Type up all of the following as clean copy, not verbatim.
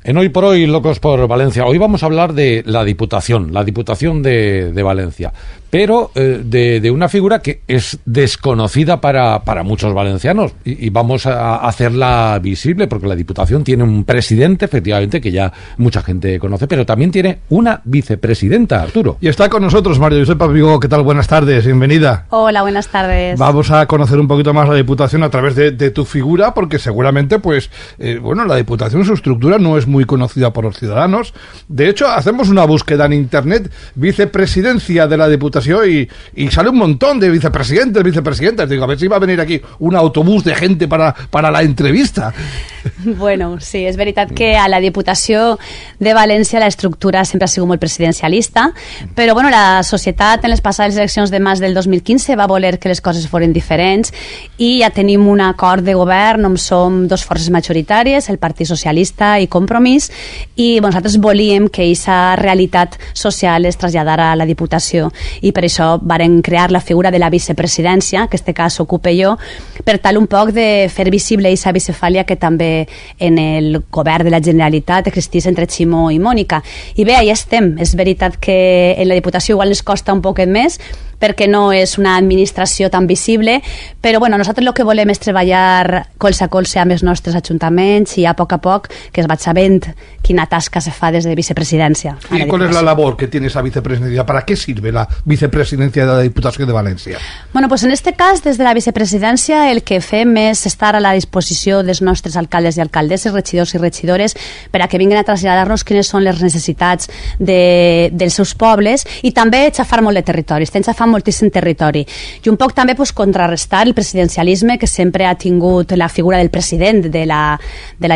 En Hoy por Hoy, Locos por Valencia, hoy vamos a hablar de la Diputación de Valencia, pero de una figura que es desconocida para muchos valencianos y vamos a hacerla visible, porque la Diputación tiene un presidente, efectivamente, que ya mucha gente conoce, pero también tiene una vicepresidenta, Arturo. Y está con nosotros María Josepa Vigo. ¿Qué tal? Buenas tardes, bienvenida. Hola, buenas tardes. Vamos a conocer un poquito más la Diputación a través de tu figura, porque seguramente, la Diputación, su estructura no es muy conocida por los ciudadanos. De hecho, hacemos una búsqueda en internet, vicepresidencia de la Diputación, y sale un montón de vicepresidentes. Digo, a ver si va a venir aquí un autobús de gente para la entrevista. Bueno, sí, és veritat que a la Diputació de València la estructura sempre ha sigut molt presidencialista, però bueno, la societat en les passades eleccions de març del 2015 va voler que les coses foren diferents i ja tenim un acord de govern on som dos forces majoritàries, el Partit Socialista i Compromís, i nosaltres volíem que aquesta realitat social es traslladara a la Diputació i per això varen crear la figura de la vicepresidència, que en aquest cas ocupe jo, per tal un poc de fer visible aquesta bicefàlia que també en el govern de la Generalitat existís entre Ximo i Mònica. I bé, ja estem. És veritat que en la Diputació igual ens costa un poquet més perquè no és una administració tan visible, però bueno, nosaltres el que volem és treballar colze a colze amb els nostres ajuntaments i a poc que es vaig sabent quina tasca se fa des de vicepresidència. ¿Y cuál es la labor que tiene esa vicepresidencia? ¿Para qué sirve la vicepresidencia de la Diputación de Valencia? Bueno, pues en este cas, des de la vicepresidència, el que fem és estar a la disposició dels nostres alcaldes i alcaldesses, regidors i regidores, per a que vinguin a traslladar-nos quines són les necessitats dels seus pobles i també xafar molt de territori. Estem xafant moltíssim territori. I un poc també contrarrestar el presidencialisme que sempre ha tingut la figura del president de la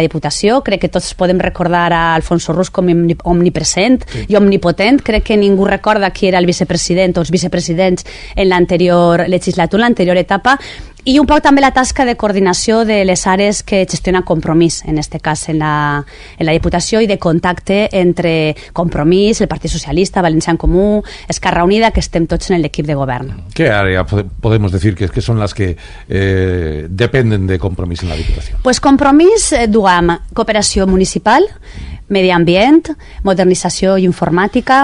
Diputació. Crec que tots podem recordar a Alfonso Rus com omnipresent i omnipotent. Crec que ningú recorda qui era el vicepresident o els vicepresidents en l'anterior legislatura, l'anterior etapa. I un poc també la tasca de coordinació de les àrees que gestiona Compromís, en aquest cas en la Diputació, i de contacte entre Compromís, el Partit Socialista, Valencià en Comú, Esquerra Unida, que estem tots en l'equip de govern. ¿Qué área podemos decir que son las que dependen de Compromís en la Diputación? Pues Compromís duem cooperació municipal, medi ambient, modernització i informàtica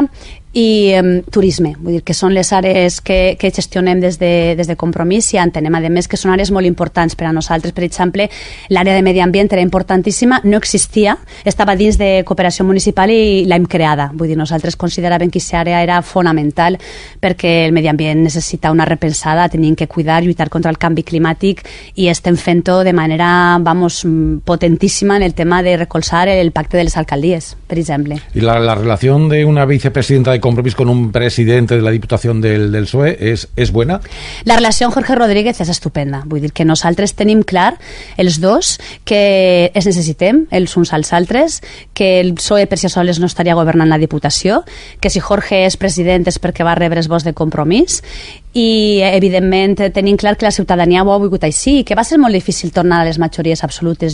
i turisme, vull dir que són les àrees que gestionem des de Compromís i entenem a més que són àrees molt importants per a nosaltres. Per exemple, l'àrea de medi ambient era importantíssima, no existia, estava dins de cooperació municipal i l'hem creada. Vull dir, nosaltres consideràvem que aquesta àrea era fonamental perquè el medi ambient necessita una repensada, tenim que cuidar, lluitar contra el canvi climàtic i estem fent-ho de manera, potentíssima en el tema de recolzar el pacte de les alcaldies, per exemple. ¿Y la relación de una vicepresidenta de Compromís con un presidente de la Diputación del PSOE es buena? La relació amb Jorge Rodríguez és estupenda. Vull dir que nosaltres tenim clar, els dos, que es necessitem els uns als altres, que el PSOE per si sols no estaria governant la Diputació, que si Jorge és president és perquè va rebre els vots de Compromís i, evidentment, tenim clar que la ciutadania ho ha volgut així i que va ser molt difícil tornar a les majories absolutes.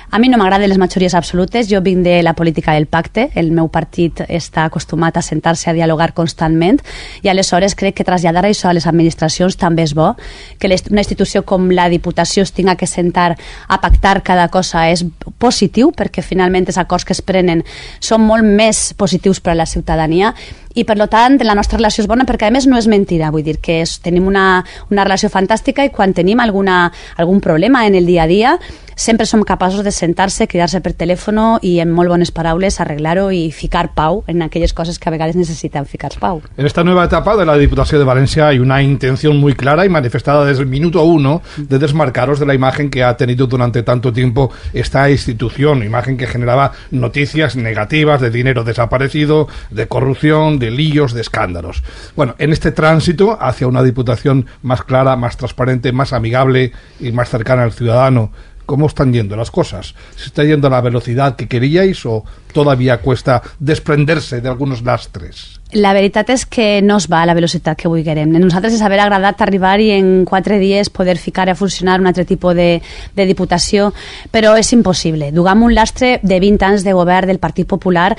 A mi no m'agraden les majories absolutes, jo vinc de la política del pacte, el meu partit està acostumat a sentar-se a dialogar constantment i aleshores crec que traslladar això a les administracions també és bo, que una institució com la Diputació es tinga que sentar a pactar cada cosa és positiu perquè finalment els acords que es prenen són molt més positius per a la ciutadania i per tant la nostra relació és bona perquè a més no és mentida, vull dir que tenim una relació fantàstica i quan tenim algun problema en el dia a dia sempre som capaços de sentar-se, cridar-se per telèfon i en molt bones paraules arreglar-ho i ficar pau en aquelles coses que a vegades necessiten ficar pau. En esta nueva etapa de la Diputación de Valencia hay una intención muy clara y manifestada desde el minuto 1 de desmarcaros de la imagen que ha tenido durante tanto tiempo esta institución, imagen que generaba noticias negativas de dinero desaparecido, de corrupción, de líos, de escándalos. Bueno, en este tránsito hacia una Diputación más clara, más transparente, más amigable y más cercana al ciudadano, ¿cómo están yendo las cosas? ¿Se está yendo a la velocidad que queríais o todavía cuesta desprenderse de algunos lastres? La veritat és que no es va a la velocitat que vulguem. A nosaltres ens haver agradat arribar i en 4 dies poder ficar a funcionar un altre tipus de diputació, però és impossible. Dugam un lastre de 20 anys de govern del Partit Popular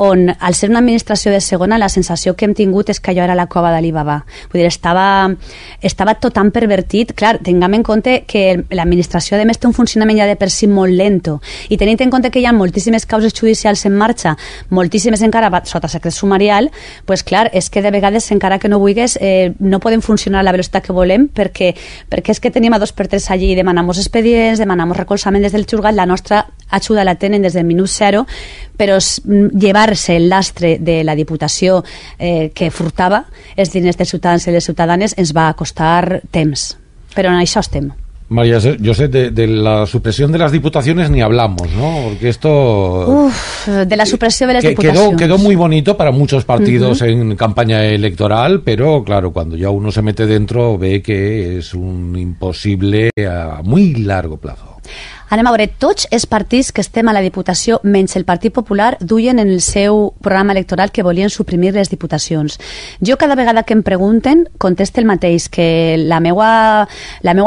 on, al ser una administració de segona, la sensació que hem tingut és que allò era la cova d'Alibaba. Vull dir, estava tot tan pervertit. Clar, tinguem en compte que l'administració, a més, té un funcionament ja de per si molt lento, i tenint en compte que hi ha moltíssimes causes judicials en marxa, moltíssimes encara sota secret sumarial, pues clar, és que de vegades, encara que no vulguis, no podem funcionar a la velocitat que volem, perquè és que tenim a 2x3 allí, demanamos expedients, demanamos recolzament des del juzgat, la nostra ajuda la tenen des del minut zero, però llevar-se el lastre de la Diputació que furtava els diners dels ciutadans i les ciutadanes ens va costar temps, però en això estem. María José, de la supresión de las diputaciones ni hablamos, ¿no? Porque esto... de la supresión de las diputaciones. Quedó muy bonito para muchos partidos en campaña electoral, pero claro, cuando ya uno se mete dentro ve que es un imposible a muy largo plazo. Anem a veure, tots els partits que estem a la Diputació, menys el Partit Popular, duien en el seu programa electoral que volien suprimir les diputacions. Jo cada vegada que em pregunten conteste el mateix, que la meua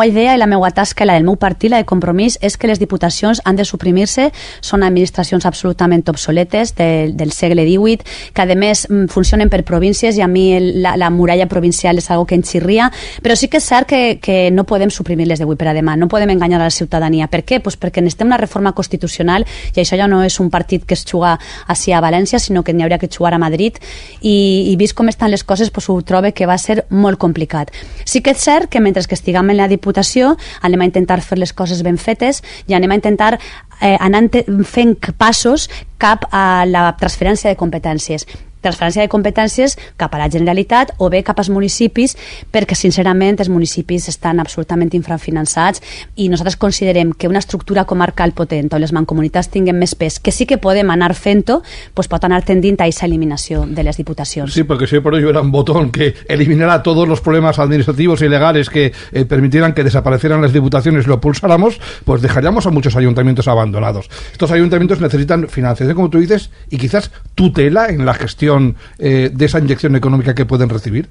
idea i la meua tasca, la del meu partit, la de Compromís, és que les diputacions han de suprimir-se, són administracions absolutament obsoletes del segle XVIII, que a més funcionen per províncies, i a mi la muralla provincial és algo que em xirria, però sí que és cert que no podem suprimir-les d'avui per a demà, no podem enganyar a la ciutadania. Per què? Pues perquè necessitem una reforma constitucional, i això ja no és un partit que es juga així a València, sinó que n'hi hauria que jugar a Madrid, i vist com estan les coses, pues ho trobo que va ser molt complicat. Sí que és cert que mentre que estiguem en la Diputació anem a intentar fer les coses ben fetes i anem a intentar anar fent passos cap a la transferència de competències cap a la Generalitat o bé cap als municipis, perquè sincerament els municipis estan absolutament infrafinançats, i nosaltres considerem que una estructura comarcal potent on les mancomunitats tinguen més pes, que sí que podem anar fent-ho, pues pot anar tendint a aquesta eliminació de les diputacions. Sí, porque si por ello era un botón que eliminara todos los problemas administrativos y legales que permitieran que desaparecieran las diputaciones y lo pulsáramos, pues dejaríamos a muchos ayuntamientos abandonados. Estos ayuntamientos necesitan financiación, como tú dices, y quizás tutela en la gestión de esa inyección econòmica que poden recibir?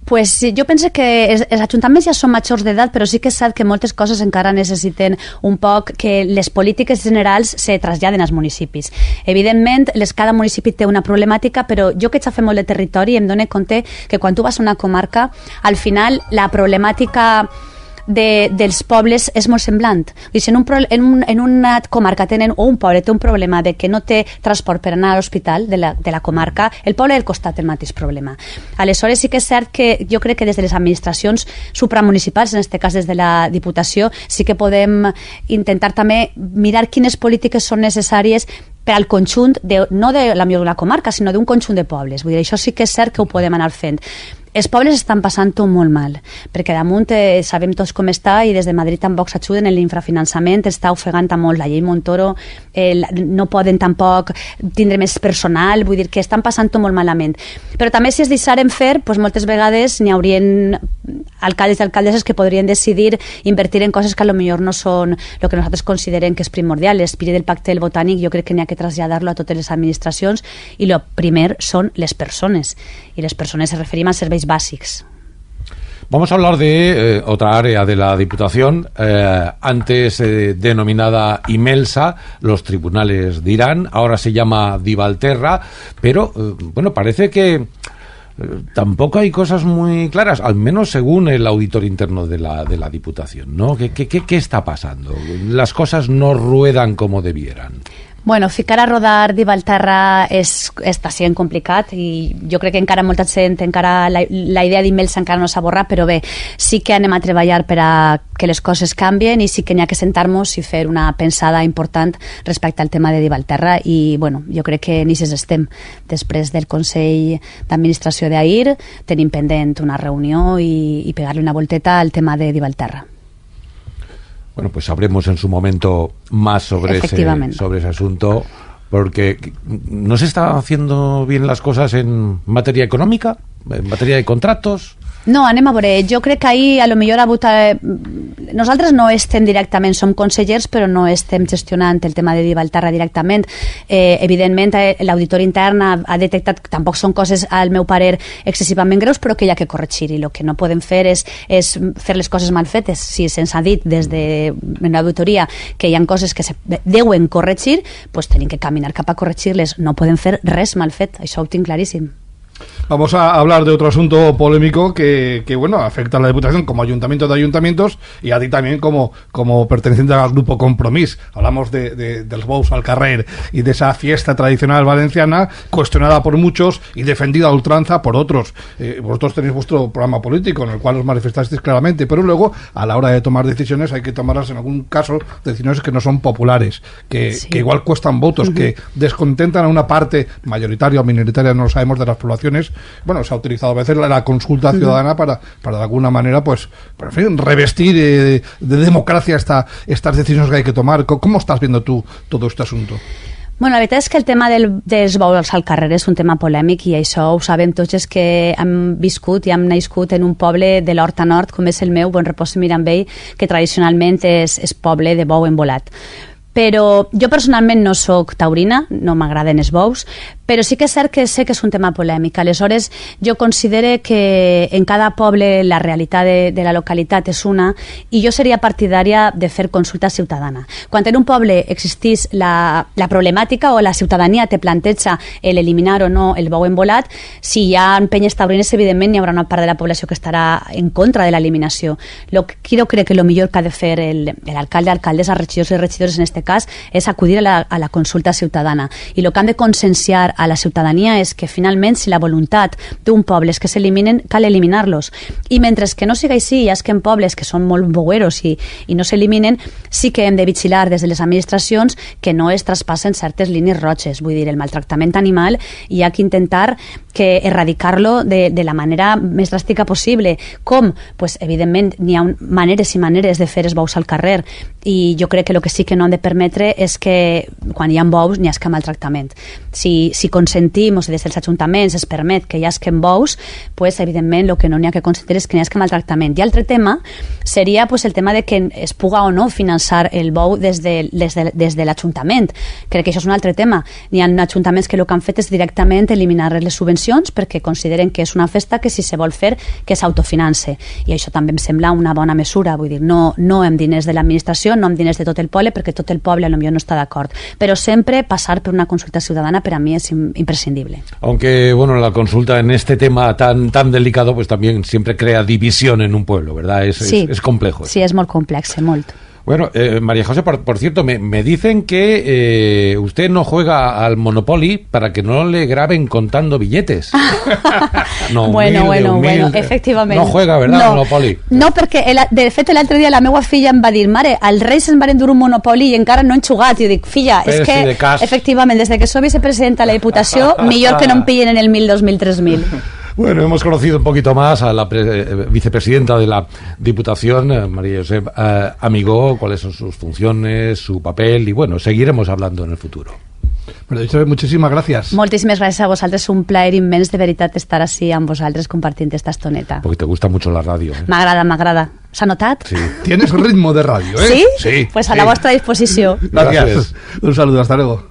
Pues jo penso que els ajuntaments ja són majors d'edat, però sí que és cert que moltes coses encara necessiten un poc que les polítiques generals se traslladen als municipis. Evidentment, cada municipi té una problemàtica, però jo que he fet molt de territori em dono compte que quan tu vas a una comarca, al final la problemàtica dels pobles és molt semblant. Si en una comarca tenen, o un poble té un problema de que no té transport per anar a l'hospital de la comarca, el poble del costat té el mateix problema. Aleshores sí que és cert que jo crec que des de les administracions supramunicipals, en aquest cas des de la Diputació, sí que podem intentar també mirar quines polítiques són necessàries per al conjunt, no de la millor d'una comarca, sinó d'un conjunt de pobles. Vull dir, això sí que és cert que ho podem anar fent. Els pobles estan passant-ho molt mal, perquè damunt sabem tots com està, i des de Madrid tampoc s'ajuden, en l'infrafinançament està ofegant molt la llei Montoro, no poden tampoc tindre més personal, vull dir que estan passant-ho molt malament. Però també si es deixaren fer, doncs moltes vegades n'hi haurien alcaldes i alcaldesses que podrien decidir invertir en coses que potser no són el que nosaltres considerem que és primordial. L'espírit del pacte del botànic jo crec que n'hi ha que traslladar-lo a totes les administracions, i el primer són les persones, i les persones se referim als serveis básicos. Vamos a hablar de otra área de la Diputación, antes denominada Imelsa, los tribunales de Irán, ahora se llama Divalterra, pero bueno, parece que tampoco hay cosas muy claras, al menos según el auditor interno de la Diputación, ¿no? ¿Qué está pasando? Las cosas no ruedan como debieran. Bueno, ficar a rodar Divalterra està sent complicat, i jo crec que encara molta gent, encara la idea d'Imelsa encara no s'ha borrat, però bé, sí que anem a treballar per a que les coses canvien, i sí que n'hi ha que sentar-nos i fer una pensada important respecte al tema de Divalterra, i bueno, jo crec que ni estem. Després del Consell d'Administració d'ahir tenim pendent una reunió i pegar-li una volteta al tema de Divalterra. Bueno, pues sabremos en su momento más sobre ese asunto, porque ¿no se están haciendo bien las cosas en materia económica, en materia de contratos? No, anem a veure. Jo crec que ahir a lo millor nosaltres no estem directament, som consellers, però no estem gestionant el tema de Gibraltar directament. Evidentment, l'auditor intern ha detectat que tampoc són coses, al meu parer, excessivament greus, però que hi ha que corregir, i el que no podem fer és fer les coses mal fetes. Si se'ns ha dit des de l'auditoria que hi ha coses que se deuen corregir, doncs tenim que caminar cap a corregir-les. No podem fer res mal fet, això ho tinc claríssim. Vamos a hablar de otro asunto polémico que bueno, afecta a la Diputación como ayuntamiento de ayuntamientos y a ti también como perteneciente al grupo Compromís. Hablamos del Bous al Carrer y de esa fiesta tradicional valenciana cuestionada por muchos y defendida a ultranza por otros. Vosotros tenéis vuestro programa político en el cual os manifestasteis claramente, pero luego a la hora de tomar decisiones hay que tomarlas en algún caso decisiones que no son populares, que igual cuestan votos, que descontentan a una parte mayoritaria o minoritaria, no lo sabemos, de las poblaciones. Bueno, se ha utilizado a veces la consulta ciudadana para de alguna manera, pues, en fin, revestir de democracia estas decisiones que hay que tomar. ¿Cómo estás viendo tú todo este asunto? Bueno, la veritat és que el tema dels bous al carrer és un tema polèmic i això ho sabem tots els que hem viscut i hem nascut en un poble de l'Horta Nord, com és el meu, Bonrepòs i Mirambell, que tradicionalment és poble de bou envolat. Però jo personalment no sóc taurina, no m'agraden els bous, però sí que és cert que sé que és un tema polèmic. Aleshores, jo considero que en cada poble la realitat de la localitat és una i jo seria partidària de fer consulta ciutadana. Quan en un poble existís la problemàtica o la ciutadania te planteja l'eliminar o no el bou envolat, si hi ha penyes taurines, evidentment hi haurà una part de la població que estarà en contra de l'eliminació. Jo crec que el millor que ha de fer l'alcalde, alcaldessa, regidors i regidores en aquest cas és acudir a la consulta ciutadana. I el que han de conscienciar a la ciutadania és que finalment si la voluntat d'un poble és que s'eliminen, cal eliminar-los. I mentre que no sigui així, hi ha que en pobles que són molt boueros i no s'eliminen, sí que hem de vigilar des de les administracions que no es traspassen certes línies roges. Vull dir, el maltractament animal hi ha que intentar erradicar-lo de la manera més dràstica possible. Com? Pues, evidentment, n'hi ha maneres i maneres de fer els bous al carrer i jo crec que el que sí que no han de permetre és que quan hi ha bous n'hi ha maltractament. Si consentim o si des dels ajuntaments es permet que hi hagi bous, pues, evidentment el que no n'hi ha que consentir és que n'hi hagi maltractament. I altre tema seria pues, el tema de que es puga o no finançar el bou des de l'Ajuntament. Crec que això és un altre tema. N'hi ha ajuntaments que el que han fet és directament eliminar les subvencions perquè consideren que és una festa que si se vol fer que s'autofinance. I això també em sembla una bona mesura. Vull dir, no amb diners de l'administració, no amb diners de tot el poble, perquè tot el poble potser no està d'acord. Però sempre passar per una consulta ciudadana per a mi és imprescindible. Aunque, bueno, la consulta en este tema tan delicado, pues también siempre crea división en un pueblo, ¿verdad? Es complejo. Sí, és molt complex, molt. Bueno, María José, por cierto, me dicen que usted no juega al Monopoly para que no le graben contando billetes. No, bueno, efectivament. No juega, ¿verdad, al Monopoly? No, perquè, de fet, l'altre dia la meva filla em va dir, mare, els Reis ens van endur un Monopoly i encara no han jugat. I jo dic, filla, és que, efectivament, des que soy vicepresidenta de la Diputació, millor que no em pillen en el 1.000, 2.000, 3.000. Bueno, hemos conocido un poquito más a la vicepresidenta de la Diputación, María Josep Amigó, cuáles son sus funciones, su papel, y bueno, seguiremos hablando en el futuro. María Josep, muchísimas gracias. Moltíssimes gràcies a vosaltres, un plaer immens de veritat estar així amb vosaltres compartint esta estoneta. Porque te gusta mucho la radio, ¿eh? M'agrada. ¿S'ha notat? Sí. Tienes ritmo de radio, ¿eh? ¿Sí? Sí. Pues a la vostra disposició. Gracias. Un saludo, hasta luego.